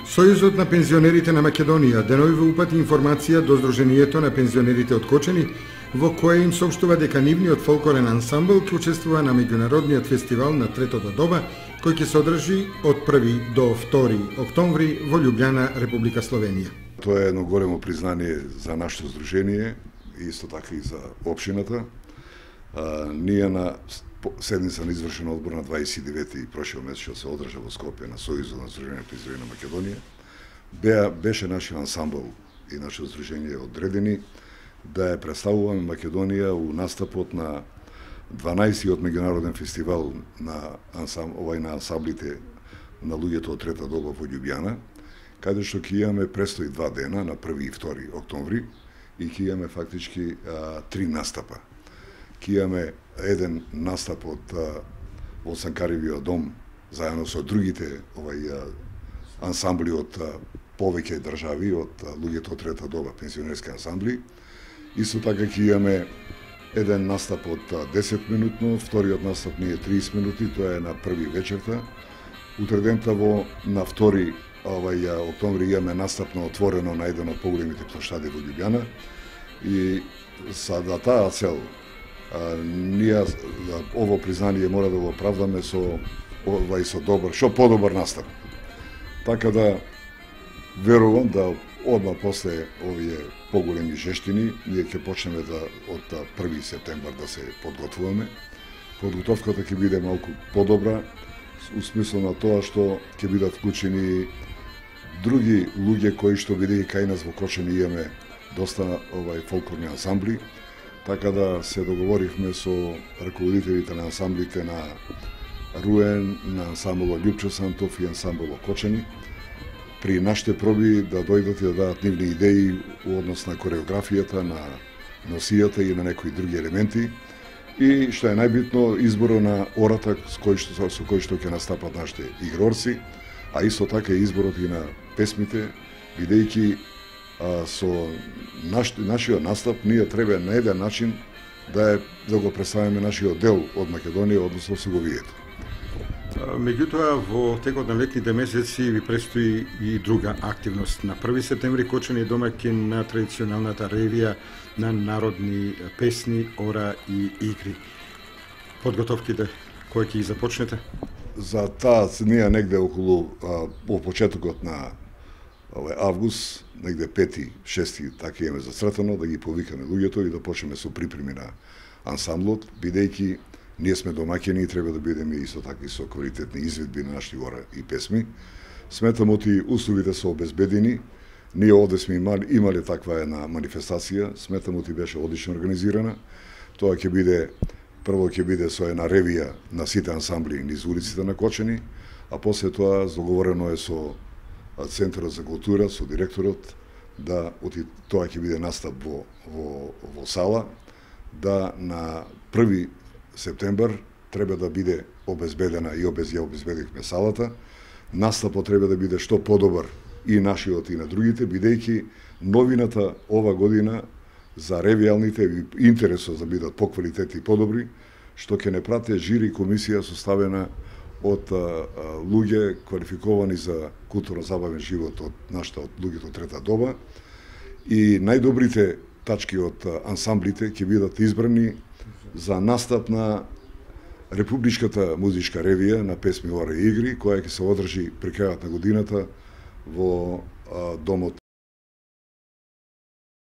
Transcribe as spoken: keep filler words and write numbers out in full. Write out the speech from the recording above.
Сојузот на пензионерите на Македонија денови упати информација до Сдруженијето на пензионерите од Кочани, во која им соопштува дека нивниот фолклорен ансамбл ќе учествува на меѓународниот фестивал на третото доба, кој ќе се одржи од први до втори октомври во Љубљана, Република Словенија. Тоа е едно големо признание за нашето здружение и исто така и за општината. А, ние на седница на извршен одбор на дваесет и девети прошел месец што се одржа во Скопје на Сојузот на Сдруженијата пензионери на Македонија, беа беше нашиот ансамбл и нашето здружение одредени да ја представуваме Македонија у настапот на дванаесеттиот меѓународен фестивал на ансам, овај на ансамблите на луѓето од трета доба во Љубљана, каде што ќе имаме престои два дена на први и втори октомври и ќе имаме фактички а, три настапа. Ќе имаме еден настап од во Санкаривиот дом заедно со другите овај а, ансамбли од а, повеќе држави, од а, луѓето од трета доба, пензионерски ансамбли. Исто така ќе имаме еден настап од десет минутно, вториот настап ни е триесет минути, тоа е на први вечерта. Утредента во на втори овај октомври имаме настап на отворено на еден од поголемите плоштади во Љубљана и за да таа цел а, ние ово признание мора да го оправдаме со овај со добар, што подобар настап. Така да верувам да одма после овие поголеми жештини, ние ќе почнеме да од први септември да се подготвуваме. Подготовката ќе биде малку подобра, у смисло на тоа што ќе бидат вклучени други луѓе кои што бидејќи кај нас во Кочани имаме доста овај фолклорни ансамбли, така да се договоривме со раководителите на ансамблите на Руен, на ансамблот Љупчо Сантов и ансамблот Кочани, при нашите проби да дојдат и да дадат нивни идеи у однос на кореографијата, на носијата и на некои други елементи. И што е најбитно, изборо на ората со кој што, со кој што ќе настапат нашите игрорци, а исто така и изборот и на песмите, бидејќи а, со наш, нашиот настап ние треба на еден начин да, е, да го представиме нашиот дел од Македонија, односно Соговието. Меѓутоа, во текот на летните месеци ви престои и друга активност. На први септември Кочани е домаќин на традиционалната ревија на народни песни, ора и игри. Подготовките кои ќе ги започнете? За таа ние негде околу а, во почетокот на овај август, негде пети, шести, така имаме зацртано да ги повикаме луѓето и да почнеме со припреми на ансамблот, бидејќи ние сме домаќини и треба да бидеме исто така и со квалитетни изведби на нашите ора и песми. Сметам оти условите се обезбедени. Ние овде сме имали, имали таква една манифестација, сметам оти беше одлично организирана. Тоа ќе биде, прво ќе биде со една ревија на сите ансамбли низ улиците на Кочани, а после тоа договорено е со Центарот за култура, со директорот, да оти тоа ќе биде настап во, во, во сала, да на први септембр треба да биде обезбедена и обез, ја обезбедихме салата. Настапот треба да биде што подобар и нашиот и на другите, бидејќи новината ова година за ревијалните интересот да бидат поквалитетни и подобри, што ќе не прате жири комисија составена од а, а, луѓе квалификовани за културно-забавен живот од нашата од луѓето од трета доба и најдобрите тачки од а, ансамблите ќе бидат избрани за настап на Републичката музичка ревија на песми, ора и игри, која ќе се одржи при крајот на годината во а, домот